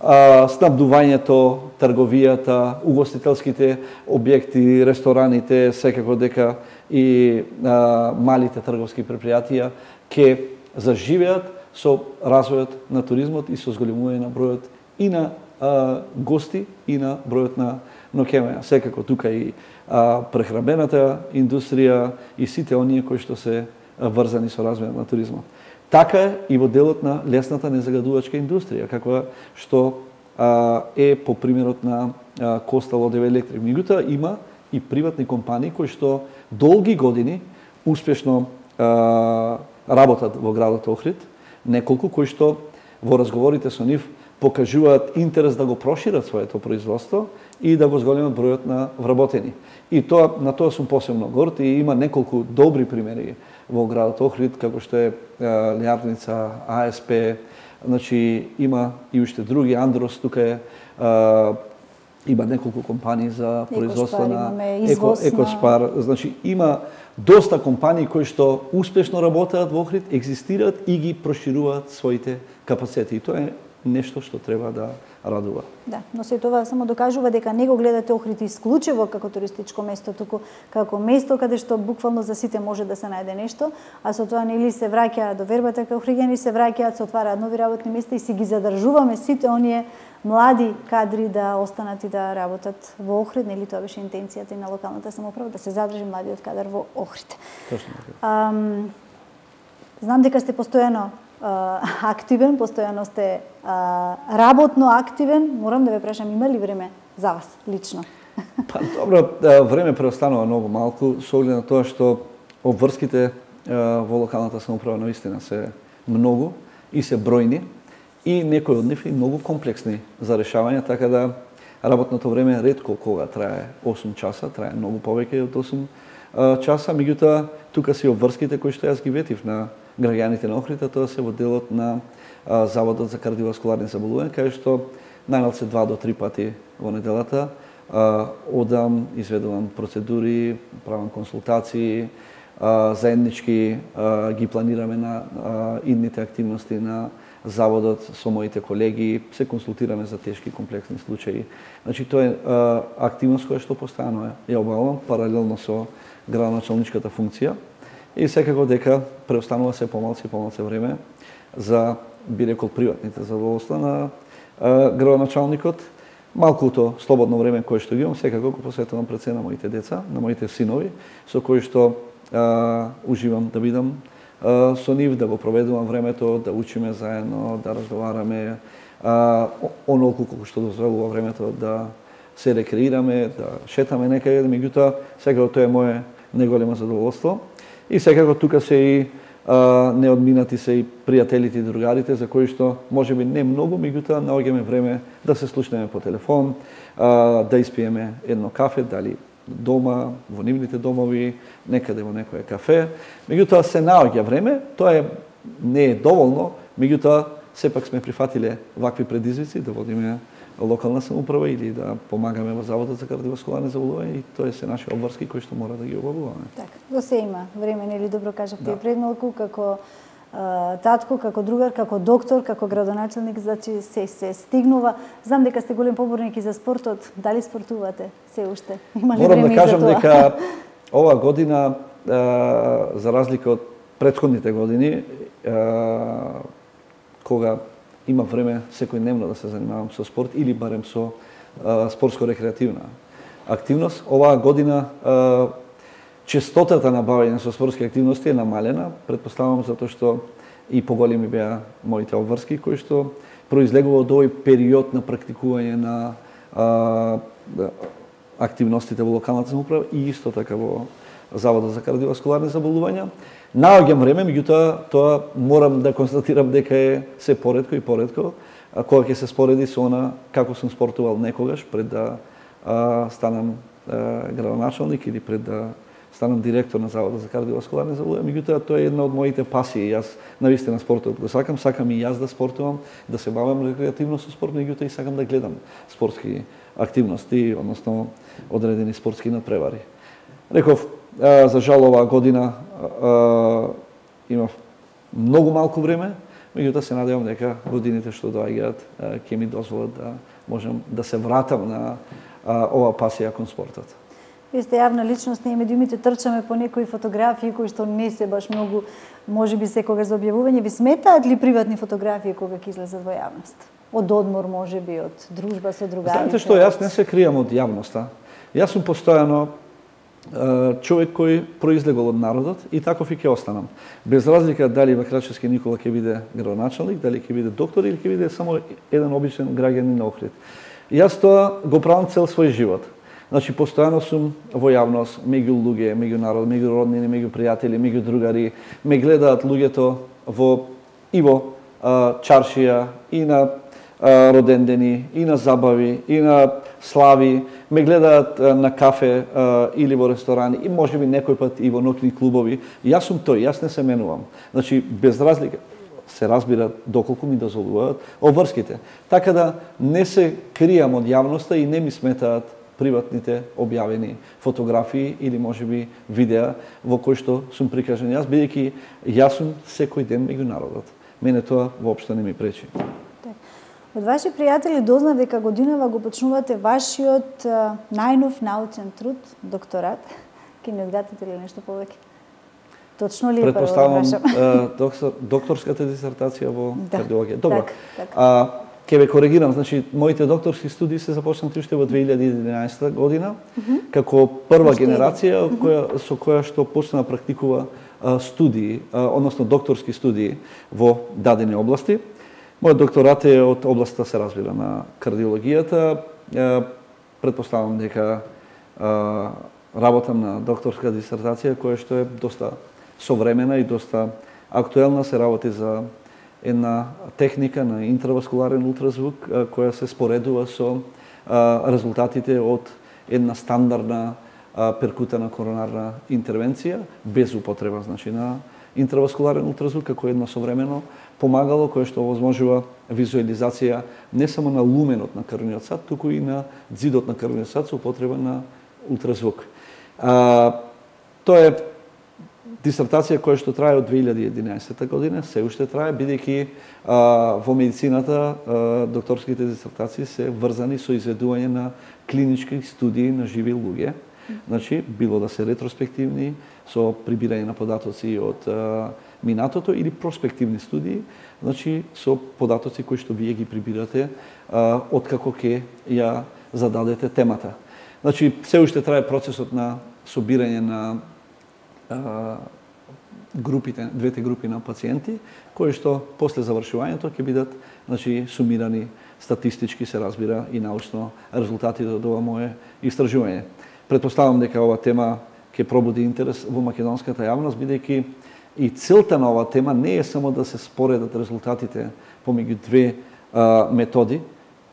А, снабдувањето, трговијата, угостителските објекти, рестораните, секако дека и а, малите трговски предпријатија ќе заживеат со развојот на туризмот и со зголемување на бројот и на а, гости и на бројот на ноќевања. Секако тука и а, прехранбената индустрија и сите оние кои што се врзани со развојот на туризмот. Така е и во делот на лесната незагадувачка индустрија, каква што а, е по примерот на а, Костал ОДВ Електрик. Меѓутоа има и приватни компании кои што долги години успешно а, работат во градот Охрид, неколку кои што во разговорите со нив покажуваат интерес да го прошират своето производство и да го зголемат бројот на вработени. И тоа, на тоа сум посебно горд и има неколку добри примери во градот Охрид, како што е Лјарница, А С П, значи има и уште други, Андрос тука е, а, има неколку компании за производство на Еко, Екоспар, значи има доста компании кои што успешно работеат во Охрид, екзистираат и ги прошируваат своите капацитети. И тоа е нешто што треба да радува. Да, но се тоа само докажува дека не го гледате Охрид исклучиво како туристичко место, туку како место каде што буквално за сите може да се најде нешто, а со тоа нели се враќаат до вербата кај охриѓани, се враќаат, се отвараат нови работни места и си ги задржуваме сите оние млади кадри да останат и да работат во Охрид, нели тоа беше интенцијата и на локалната самоуправа да се задржи младиот кадар во Охрид. Точно така. Ам, знам дека сте постојано активен, постојано сте а, работно активен. Морам да ве прашам, има ли време за вас лично? Па добро, време преостанува многу малку со оглед на тоа што обврските во локалната самоуправа наистина се многу и се бројни и некои од нив и многу комплексни за решавање, така да работното време ретко кога трае осум часа, трае многу повеќе од осум часа, меѓутоа тука се обврските кои што јас ги ветив на граѓаните на Охрид, тоа се во делот на а, Заводот за кардиоваскуларни заболувања, кај што најмалку два до три пати во неделата а, одам, изведувам процедури, правам консултации, а, заеднички а, ги планираме на а, идните активности на Заводот со моите колеги, се консултираме за тешки комплексни случаи. Значи тоа е а, активност која што постојано е обавам паралелно со градоначалничката функција. И секако дека преостанува се помалку и помалку време за, би рекол, приватните задоволства на а, градоначалникот. Малкуто слободно време кое што ги имам, секако го посветувам пред се на моите деца, на моите синови, со кои што а, уживам да бидам а, со нив, да го проведувам времето, да учиме заедно, да разговараме, а, онолку колку што дозволува времето да се рекреираме, да шетаме некаде, меѓутоа секако тоа е мое најголемо задоволство. И секако тука се и а, неодминати се и пријателите и другарите за кои што можеби не многу, меѓутоа наоѓаме време да се слушнеме по телефон, а, да испиеме едно кафе, дали дома, во нивните домови, некаде во некое кафе. Меѓутоа се наоѓа време, тоа е не е доволно, меѓутоа сепак сме прифатиле вакви предизвици да водиме локална самоуправа или да помагаме во Заводот за кардиоваскуларни заболувања и тоа се наши обврски кои што мора да ги обавуваме. Така, до се има време, нели добро кажавте да. И пред малку како а, татко, како другар, како доктор, како градоначалник, значи се се стигнува. Знам дека сте голем поборник и за спортот. Дали спортувате се уште? Има ли Морам време да кажам за тоа? дека ова година а, за разлика од претходните години а, кога има време секојдневно да се занимавам со спорт или барем со спортско-рекреативна активност. Оваа година а, честотата на бавење со спортски активности е намалена, претпоставувам затоа што и поголеми беа моите обврски кои што произлегува од овој период на практикување на а, активностите во локалната самоуправа и исто така во Заводот за кардиоваскуларни заболувања. Наоѓам време, меѓутоа тоа морам да констатирам дека е се поретко и поретко, кога ќе се спореди со она како сум спортувал некогаш пред да а, станам а, градоначалник или пред да станам директор на Заводот за кардиоваскуларни заболувања. Меѓутоа тоа е една од моите пасии. Јас навистина спортот го сакам, сакам и јас да спортувам, да се бавам рекреативно со спорт, меѓутоа и сакам да гледам спортски активности, односно одредени спортски надпревари. Реков, за жал оваа година имав многу малку време, меѓутоа се надевам дека годините што доаѓаат ќе ми дозволат да можам да се вратам на оваа пасија кон спортот. Вие сте јавна личност, ние медиумите трчаме по некои фотографии кои што не се баш многу, можеби секогаш за објавување. Ви сметаат ли приватни фотографии кога ќе излезат во јавност? Од одмор, можеби, од дружба со другари? Знаете што, јас не се кријам од јавноста. Јас сум постојано човек кој произлегол од народот и таков и ќе останам. Без разлика дали Бакрачевски Никола ќе биде градоначалник, дали ќе биде доктор или ќе биде само еден обичен граѓанин на Охрид. Јас тоа го правам цел свој живот. Значи, постојано сум во јавност, меѓу луѓе, меѓу народ, меѓу роднини, меѓу пријатели, меѓу другари. Ме гледаат луѓето во и во а, чаршија, и на а, родендени, и на забави, и на слави. Ме гледаат а, на кафе а, или во ресторани, и можеби некој пат и во ноќни клубови. Јас сум тој, јас не се менувам. Значи, без разлика, се разбира доколку ми дозволуваат обврските. Така да не се кријам од јавноста и не ми сметаат приватните објавени фотографии или можеби видеа во кои што сум прикажен јас, бидејќи јас сум секој ден меѓу народот. Мене тоа воопшто не ми пречи. Од ваши пријатели дознав дека годинава го почнувате вашиот а, најнов научен труд, докторат. Ке ми одгадате ли нешто повеќе? Точно ли е прво да прашам? Доктор, докторската дисертација во да, кардиологија. Добро. Так, так. А, Ке ве коригирам, значи моите докторски студии се започнати уште во две илјади и единаесета година, mm -hmm. како прва Уште генерација mm -hmm. која со која што почна да практикува а, студии, а, односно докторски студии во дадени области. Мојот докторат е од областта, се разбира, на кардиологијата. А, предпоставам дека а, работам на докторска дисертација која што е доста современа и доста актуелна, се работи за една техника на интраваскуларен ултразвук која се споредува со а, резултатите од една стандардна а, перкутана коронарна интервенција без употреба, значи, на интраваскуларен ултразвук како едно современо помагало кое што овозможува визуализација не само на луменот на крвниот сад, туку и на ѕидот на крвниот сад со употреба на ултразвук. А, тоа е дисертација која што трае од две илјади и единаесета година, се уште трае, бидејќи во медицината а, докторските дисертации се врзани со изведување на клинички студии на живи луѓе. Значи, било да се ретроспективни, со прибирање на податоци од а, минатото, или проспективни студии, значи, со податоци кои што вие ги прибирате а, откако ќе ја зададете темата. Значи, се уште трае процесот на собирање на групите, двете групи на пациенти, кои што после завршувањето ќе бидат, значи, сумирани статистички, се разбира, и научно резултатите од ова мое истражување. Предпоставам дека ова тема ќе пробуди интерес во македонската јавност, бидејќи и целта на оваа тема не е само да се споредат резултатите помеѓу две а, методи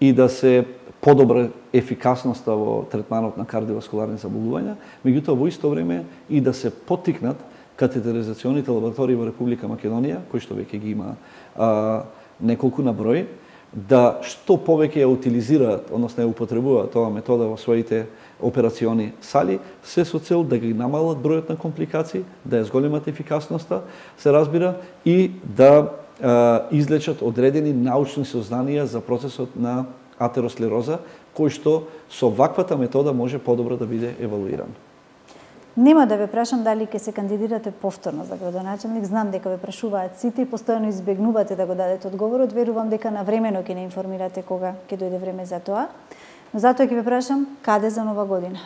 и да се подобра ефикасноста во третманот на кардиоваскуларни заболувања, меѓутоа во исто време и да се поттикнат катетеризационите лаборатории во Република Македонија, кои што веќе ги има а, неколку на број, да што повеќе ја утилизираат, односно ја употребуваат оваа метода во своите операциони сали, се со цел да ги намалат бројот на компликации, да ја зголемат ефикасноста, се разбира, и да а, излечат одредени научни сознанија за процесот на атеросклероза, кој што со ваквата метода може подобро да биде евалуиран. Нема да ве прашам дали ќе се кандидирате повторно за градоначалник. Знам дека ве прашуваат сите и постојано избегнувате да го дадете одговорот. Верувам дека навремено ќе не информирате кога ќе дојде време за тоа. Но затоа ќе ве прашам, каде за нова година?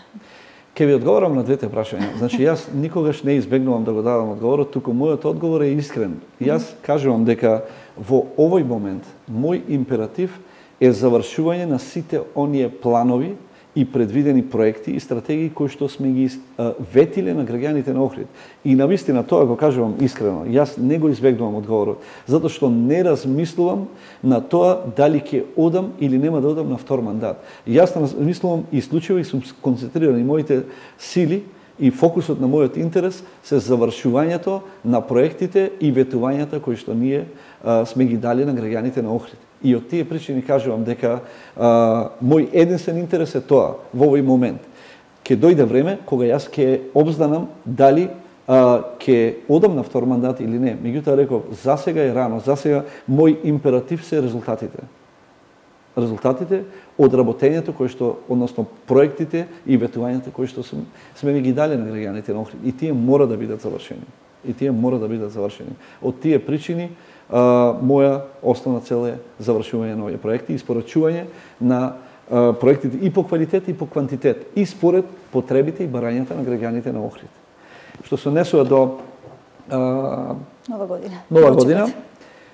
Ке ви одговорам на двете прашања. Значи, јас никогаш не избегнувам да го дадам одговорот, туку мојот одговор е искрен. Јас кажувам дека во овој момент мој императив е завршување на сите оние планови и предвидени проекти и стратегии кои што сме ги а, ветиле на граѓаните на Охрид. И навистина тоа го кажувам искрено. Јас не го избегнувам одговорот, затоа што не размислувам на тоа дали ќе одам или нема да одам на втор мандат. Јас размислувам исклучиво и сум концентриран и моите сили и фокусот на мојот интерес се завршувањето на проектите и ветувањата кои што ние а, сме ги дали на граѓаните на Охрид. И од тие причини кажувам дека а, мој единствен интерес е тоа во овој момент. Ке дојде време кога јас ќе обзнанам дали а, ке одам на втор мандат или не. Меѓутоа реков, за сега е рано, за сега мој императив се резултатите. Резултатите од работењето кои што, односно проектите и ветувањата кои што сме, сме ги дали на граѓаните на Охрид. И тие мора да бидат завршени. И тие мора да бидат завршени. Од тие причини Uh, моја основна цел е завршување на овие проекти и испорачување на uh, проектите и по квалитет и по квантитет и според потребите и барањата на граѓаните на Охрид. Што се однесува до uh, Нова година. Нова година.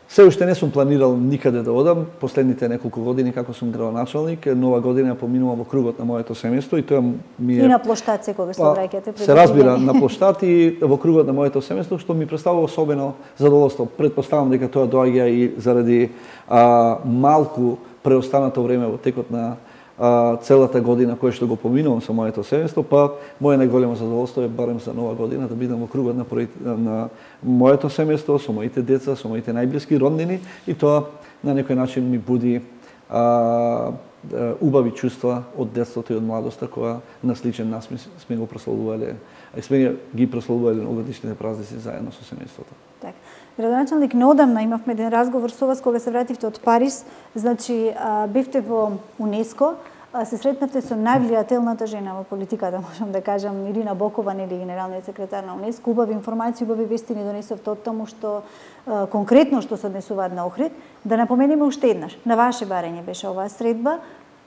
Се уште не сум планирал никаде да одам. Последните неколку години како сум градоначалник, Нова година поминува во кругот на моето семејство и тоа ми е и на плоштад секогаш се враќате. Се разбира на плоштад и во кругот на моето семејство, што ми представува особено задоволство. Предпоставам дека тоа доаѓа и заради а, малку преостанато време во текот на а, целата година која што го поминувам со моето семејство, па моје најголемо задоволство е барем за Нова година да бидам во кругот на, на моето семејство, со моите деца, со моите најблиски роднини и тоа на некој начин ми буди а, убави чувства од детството и од младоста која на сличен насмис сме го прославувале, а сме ги прославувале новогодишните празници заедно со семејството. Така. Градоначалник, неодамна имавме еден разговор со вас кога се вративте од Париз, значи бевте во УНЕСКО, се сретнавте со највлијателната жена во политиката, можам да кажам, Ирина Бокова, нели генералниот секретар на УНЕСКО. Убави информации, убави вести ни донесовте од таму што конкретно што се однесуваат на Охрид. Да напомениме уште еднаш, на ваше барање беше оваа средба.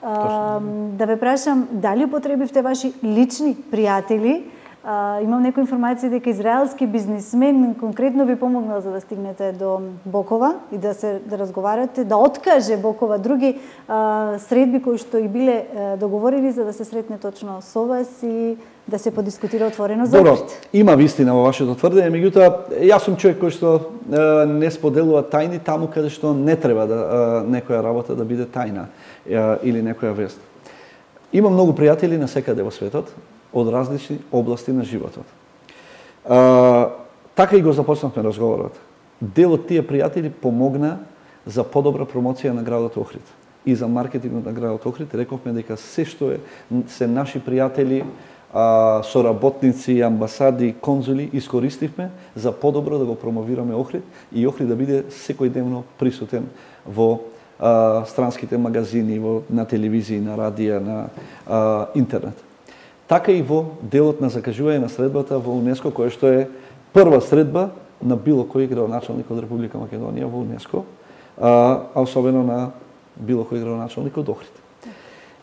Да ве прашам, дали употребивте ваши лични пријатели? Uh, имам некои информации дека израелски бизнисмен конкретно ви помогнал за да стигнете до Бокова и да се да разговарате, да откаже Бокова други uh, средби кои што и биле uh, договорени за да се сретне точно со вас и да се подискутира отворено за Добро, Охрид. Има вистина во вашето тврдење, меѓутоа јас сум човек кој што uh, не споделува тајни таму каде што не треба да uh, некоја работа да биде тајна uh, или некоја вест. Има многу пријатели на секаде во светот од различни области на животот. А, така и го започнавме разговорот. Дел од тие пријатели помогна за подобра промоција на градот Охрид и за маркетингот на градот Охрид. Рековме дека се што е се наши пријатели, а, соработници, амбасади, конзули искористивме за подобро да го промовираме Охрид и Охрид да биде секојдневно присутен во а, странските магазини, во на телевизија, на радија, на а, интернет. Така и во делот на закажување на средбата во УНЕСКО, која што е прва средба на било кој градоначалник од Република Македонија во УНЕСКО, а, а особено на било кој градоначалник од Охрид.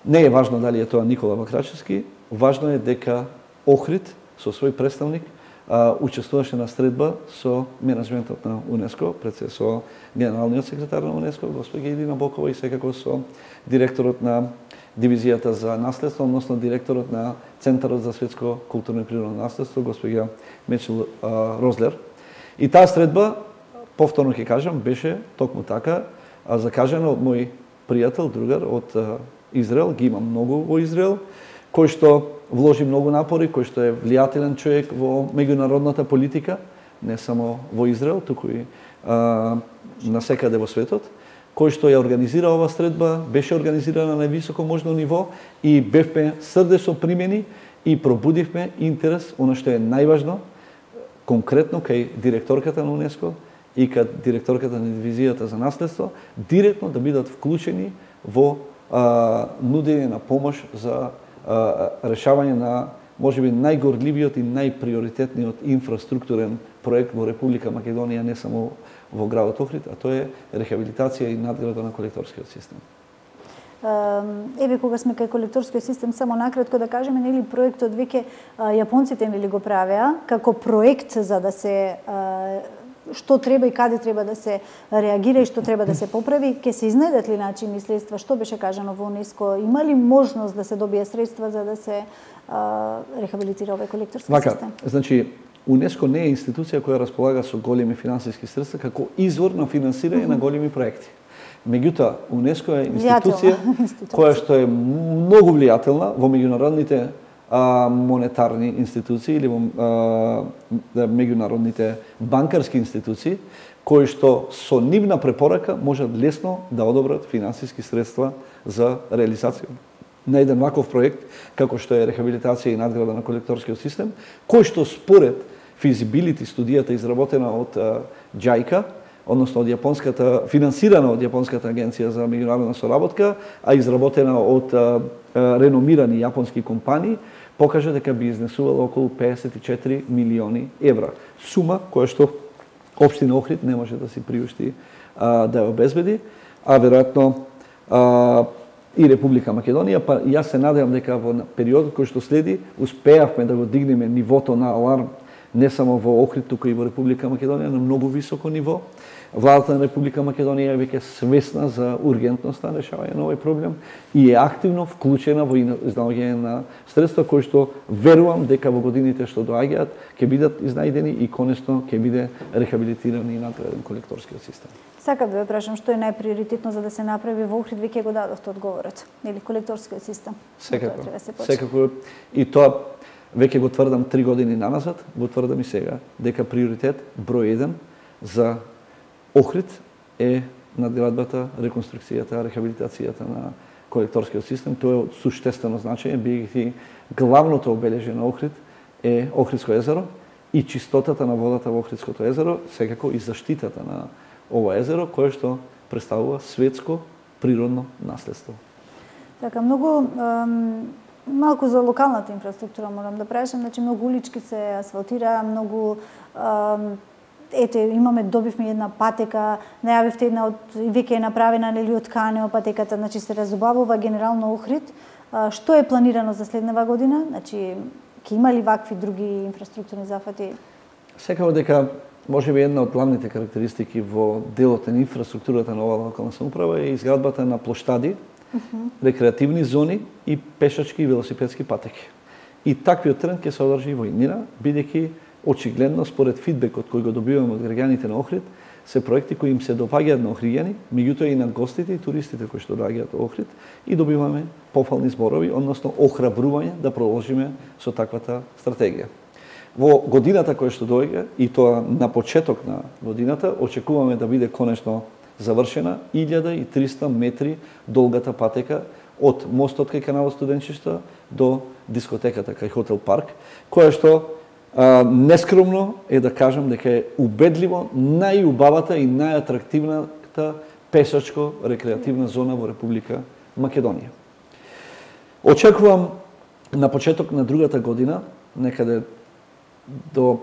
Не е важно дали е тоа Никола Бакрачевски, важно е дека Охрид со свој представник а, учествуваше на средба со менеджментот на УНЕСКО, пред се со генералниот секретар на УНЕСКО, госпожа Ирина Бокова и секако со директорот на дивизијата за наследство, односно директорот на Центарот за светско културно и природно наследство, госпожа Мечел Розлер. И таа средба, повторно ќе кажам, беше токму така закажана од мој пријател, другар од Израел, ги имам многу во Израел, кој што вложи многу напори, кој што е влијателен човек во меѓународната политика, не само во Израел, туку и а, насекаде во светот, кој што ја организира ова средба, беше организирана на највисоко можно ниво и бевме срдечно примени и пробудивме интерес, она што е најважно, конкретно кај директорката на УНЕСКО и кај директорката на дивизијата за наследство, директно да бидат вклучени во а, нудење на помош за а, решавање на можеби најгорливиот и најприоритетниот инфраструктурен проект во Република Македонија, не само во градот Охрид, а тоа е рехабилитација и надграда на колекторскиот систем. Еве кога сме кај колекторскиот систем, само накратко да кажеме, нели проектот веќе јапонците нели го правеа како проект за да се што треба и каде треба да се реагира и што треба да се поправи, ќе се изнедат ли начини средства, што беше кажано во УНЕСКО, има ли можност да се добие средства за да се а, рехабилитира овој колекторски Вака, систем? Значи, УНЕСКО не е институција која располага со големи финансиски средства како извор на финансирање mm -hmm. на големи проекти. Меѓутоа, УНЕСКО е институција која што е многу влијателна во меѓународните а, монетарни институции или во а, меѓународните банкарски институции, кои што со нивна препорака можат лесно да одобрат финансиски средства за реализација на еден ваков проект, како што е рехабилитација и надграда на колекторскиот систем, кој што според физибилити студијата изработена од џајка, односно од јапонската, финансирана од Јапонската агенција за меѓународна соработка, а изработена од а, а, реномирани јапонски компании, покажа дека би изнесувала околу песет и четири милиони евра. Сума која што општина Охрид не може да си приушти а, да ја обезбеди, а веројатно а, и Република Македонија, па јас се надевам дека во периодот кој што следи успеавме да го дигнеме нивото на аларм не само во Охрид, туку и во Република Македонија на многу високо ниво. Владата на Република Македонија е веќе свесна за ургентноста на решавање на овој проблем и е активно вклучена во изнаоѓање на средства кои што верувам дека во годините што доаѓаат ќе бидат изнајдени и конечно ќе биде рехабилитиран и надграден колекторскиот систем. Сакам да ве прашам што е најприоритетно за да се направи во Охрид, веќе го дадовте одговорот, нели колекторскиот систем. Секако. Секако и тоа веќе го тврдам три години наназад, го тврдам и сега дека приоритет број еден за Охрид е надградбата, реконструкцијата, рехабилитацијата на колекторскиот систем. Тоа е од суштествено значење, бидејќи главното обележје на Охрид е Охридско езеро и чистотата на водата во Охридското езеро, секако и заштитата на ова езеро, кое што представува светско природно наследство. Така, многу ем, малку за локалната инфраструктура морам да прашам, значи многу улички се асфалтира, многу ем, ете, имаме, добивме една патека, најавивте една од, веќе е направена, нели, од Канео патеката, значи се разубавува генерално Охрид. А, што е планирано за следнава година? Значи, ќе има ли вакви други инфраструктурни зафати? Секако дека можеби една од главните карактеристики во делот на инфраструктурата на оваа локална самоуправа е изградбата на плоштади, uh -huh. рекреативни зони и пешачки и велосипедски патеки. И таквиот тренд ќе се одржи во иднина, бидејќи очигледно, според фидбекот кој го добиваме од граѓаните на Охрид, се проекти кои им се допаѓаат на охриѓани, меѓутоа и на гостите и туристите кои што доаѓаат во Охрид, и добиваме пофални зборови, односно охрабрување да продолжиме со таквата стратегија. Во годината која што доаѓа, и тоа на почеток на годината, очекуваме да биде конечно завршена илјада и триста метри долгата патека од мостот кај каналот Студенчишта до дискотеката кај Хотел Парк, која што а, нескромно е да кажам дека е убедливо најубавата и најатрактивната пешачко-рекреативна зона во Република Македонија. Очекувам на почеток на другата година, некаде до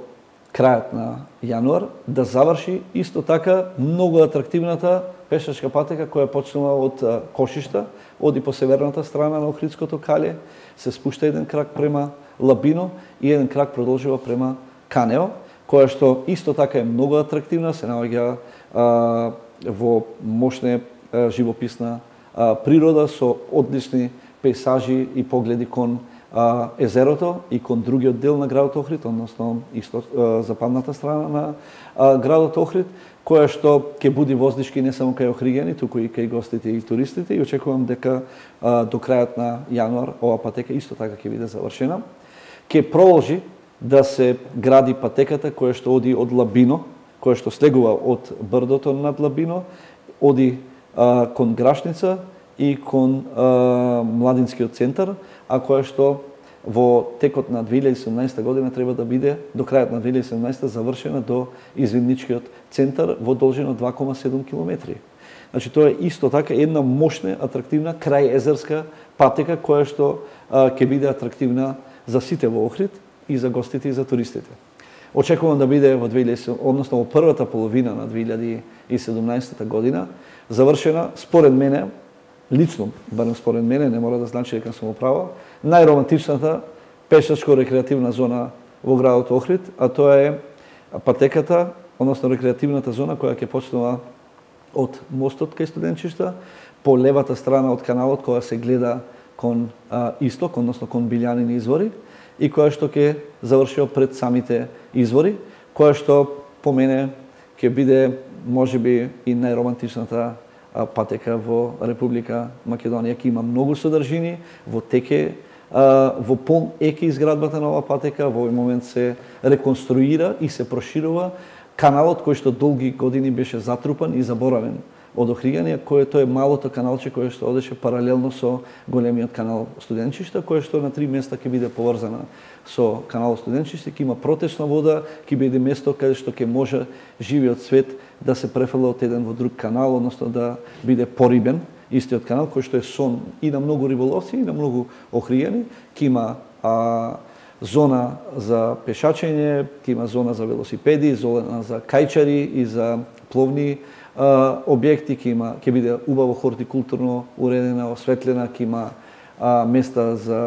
крајот на јануар, да заврши исто така многу атрактивната пешачка патека која почнува од Кошишта, оди по северната страна на Охридското кале, се спушта еден крак према Лабино и еден крак продолжува према Канео, која што исто така е многу атрактивна, се наоѓа а, во мощна а, живописна а, природа со одлични пейсажи и погледи кон а, езерото и кон другиот дел на градот Охрид, односно исто а, западната страна на а, градот Охрид, која што ќе буди воздишки не само кај охриѓани, туку и кај гостите и туристите, и очекувам дека а, до крајот на јануар ова патека исто така ќе биде завршена. Ќе продолжи да се гради патеката која што оди од Лабино, која што слегува од брдото над Лабино, оди а, кон Грашница и кон а, Младинскиот центар, а која што во текот на две илјади и седумнаесета година треба да биде до крајот на две илјади и седумнаесета завршена до извидничкиот центар во должина два кома седум километри. Значи тоа е исто така една мощна, атрактивна крајезерска патека која што а, ќе биде атрактивна за сите во Охрид и за гостите и за туристите. Очекувам да биде во две илјади, односно во првата половина на две илјади и седумнаесета година завршена, според мене, лично, барем според мене, не мора да значи дека сум управа, најромантичната пешачко-рекреативна зона во градот Охрид, а тоа е патеката, односно рекреативната зона која ќе почнува од мостот кај студенчишта, по левата страна од каналот која се гледа кон а, исток, односно кон Билјанини извори, и која што ќе заврши пред самите извори, која што по мене ќе биде можеби и најромантичната патека во Република Македонија. Ќе има многу содржини, во теке, во пол еке изградбата на оваа патека, во овој момент се реконструира и се проширува каналот кој што долги години беше затрупан и заборавен од Охриѓани, кој тоа е малото каналче кое што одеше паралелно со големиот канал Студенчишта, кое што на три места ќе биде поврзана со каналот Студенчишта, ќе има протечна вода, ќе биде место каде што ќе може живиот свет да се префрла од еден во друг канал, односно да биде порибен истиот канал, кој што е сон и на многу риболовци и на многу Охриѓани. Ќе има а, зона за пешачење, ќе има зона за велосипеди, зона за кајчари и за пловни Uh, објекти, ќе има, ќе биде убаво хортикултурно уредена, осветлена, ќе има uh, места за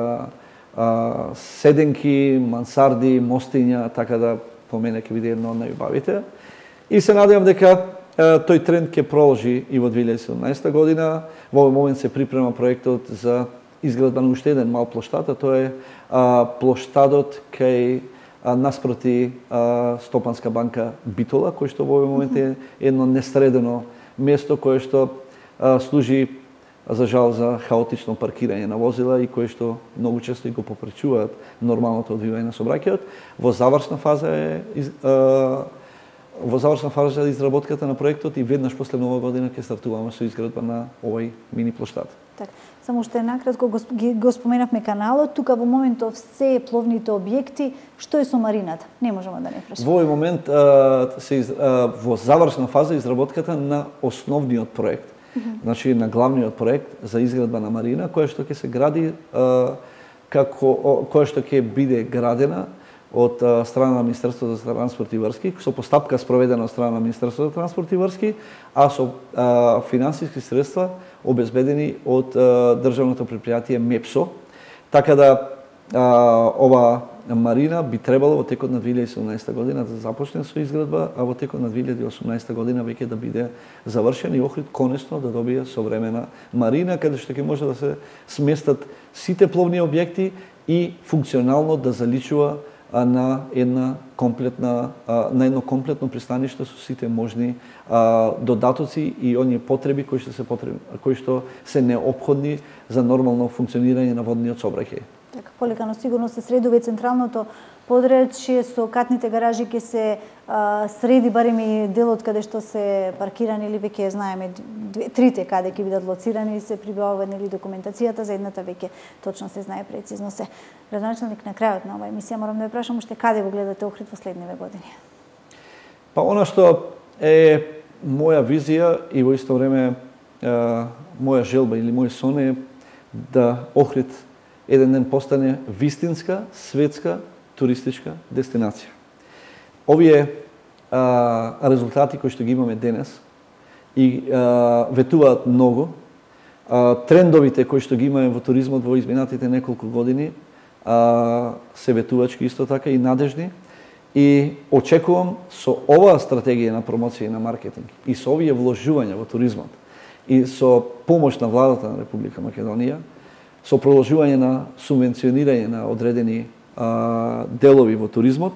uh, седенки, мансарди, мостиња, така да по мене ќе биде едно од најубавите. И се надевам дека uh, тој тренд ќе продолжи и во две илјади и седумнаесета година. Во овој момент се припрема проектот за изградба на уште еден мал плоштад, а тоа е uh, плоштадот кај наспроти а, Стопанска банка Битола, кој што во овој момент е едно несредено место кое што а, служи за жал за хаотично паркирање на возила и кое што многу често и го попречуваат нормалното одвивање на сообраќајот. Во завршна фаза е из, а, во завршна фаза е изработката на проектот и веднаш после нова година ќе стартуваме со изградба на овој мини плоштад. Так, само уште накратко го, го споменавме каналот, тука во моментов се пловните објекти, што е со марината? Не можеме да не прашаме. Во овој момент а, се из, а, во завршна фаза изработката на основниот проект. Mm -hmm. Значи на главниот проект за изградба на марина, која што ќе се гради а, како која што ќе биде градена од а, страна на Министерството за транспорт и врски, со постапка спроведена од страна на Министерството за транспорт и врски, а со а, финансиски средства обезбедени од а, државното предпријатие МЕПСО. Така да а, ова марина би требало во текот на две илјади и седумнаесета година да започне со изградба, а во текот на две илјади и осумнаесета година веќе да биде завршен и Охрид конечно да добие современа марина, каде што ќе може да се сместат сите пловни објекти и функционално да заличува на една комплетна на едно комплетно пристаниште со сите можни а, додатоци и оние потреби кои што се потребни, кои што се неопходни за нормално функционирање на водниот сообраќај. Така, полека сигурно се средува и централното подречје со катните гаражи ќе се а, среди барем и делот каде што се паркирани или веќе знаеме две, трите каде ќе бидат лоцирани и се прибавува нели документацијата за едната веќе точно се знае прецизно се. Градоначалник, на крајот на оваа емисија морам да ве прашам уште каде го гледате Охрид во следниве години? Па она што е моја визија и во исто време е, моја желба или мој сон е да Охрид еден ден постане вистинска светска туристичка дестинација. Овие а, резултати кои што ги имаме денес и а, ветуваат многу. А, трендовите кои што ги имаме во туризмот во изминатите неколку години а, се ветувачки исто така и надежни. И очекувам со оваа стратегија на промоција и на маркетинг и со овие вложувања во туризмот и со помош на владата на Република Македонија, со продолжување на субвенционирање на одредени а, делови во туризмот,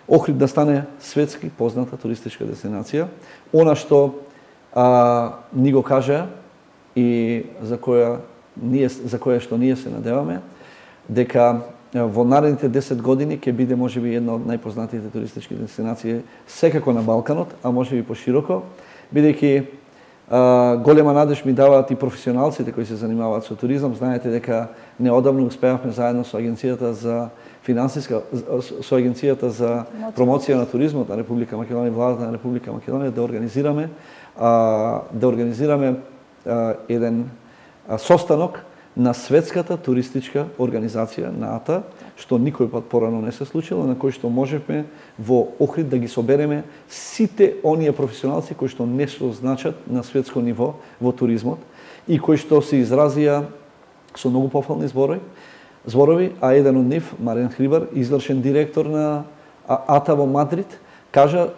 Охрид да стане светски позната туристичка дестинација. Она што а, ни го кажа и за која ние за која што ние се надеваме дека во наредните десет години ќе биде можеби една од најпознатите туристички дестинации секако на Балканот, а можеби пошироко, бидејќи голема надеж ми даваат и професионалците кои се занимаваат со туризам. Знаете дека неодамно успеавме заедно со агенцијата за финансиска со агенцијата за промоција на туризмот на Република Македонија, владата на Република Македонија да организираме да организираме еден состанок на светската туристичка организација НААТА, што никој пат порано не се случило, на кој што можевме во Охрид да ги собереме сите оние професионалци кои што нешто значат на светско ниво во туризмот и кои што се изразија со многу пофални зборови, зборови, а еден од нив, Маријан Хрибар, извршен директор на АТА во Мадрид, кажа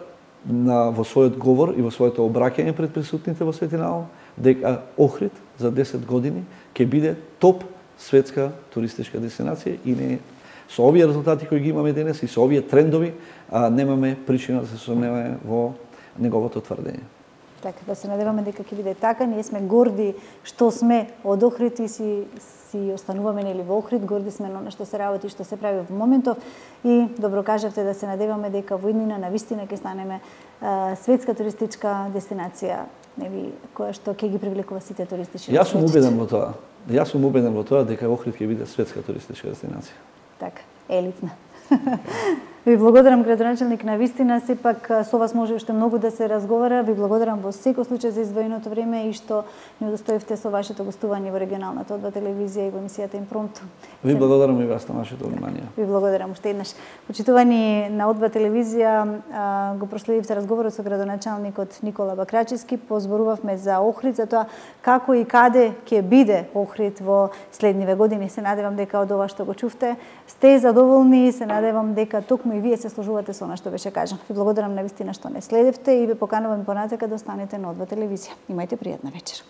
на, во својот говор и во своето обраќање пред присутните во Свети Наум, дека Охрид за десет години ќе биде топ светска туристичка дестинација и не со овие резултати кои ги имаме денес и со овие трендови, а, немаме причина да се сомневаме во неговото тврдење. Така, да се надеваме дека ќе биде така. Ние сме горди што сме од Охрид и си, си остануваме нели во Охрид, горди сме на што се работи, што се прави во моментов и добро кажавте да се надеваме дека во иднина на вистина ќе станеме а, светска туристичка дестинација, нели, која што ќе ги привлекува сите туристички. Јас сум убеден во тоа. Јас сум убеден во тоа дека Охрид ќе биде светска туристичка дестинација. Така, елитна. Ви благодарам, градоначалник, на вистина, сепак со вас може уште многу да се разговара. Ви благодарам во секој случај за издвоеното време и што ни удостоивте со вашето гостување во регионалната Одба телевизија и во емисијата Импромту. Ви благодарам и вас на вашето внимание. Ви благодарам уште еднаш. Почитувани на Одба телевизија, го проследивте разговорот со градоначалникот Никола Бакрачевски. Позборувавме за Охрид, за тоа како и каде ќе биде Охрид во следниве години. Се надевам дека од ова што го чувте сте задоволни, се надевам дека токму и вие се сложувате со она што беше кажано. Ви благодарам на вистина што не следевте и ве поканувам понатака да останете на Одба телевизија. Имајте пријатна вечер.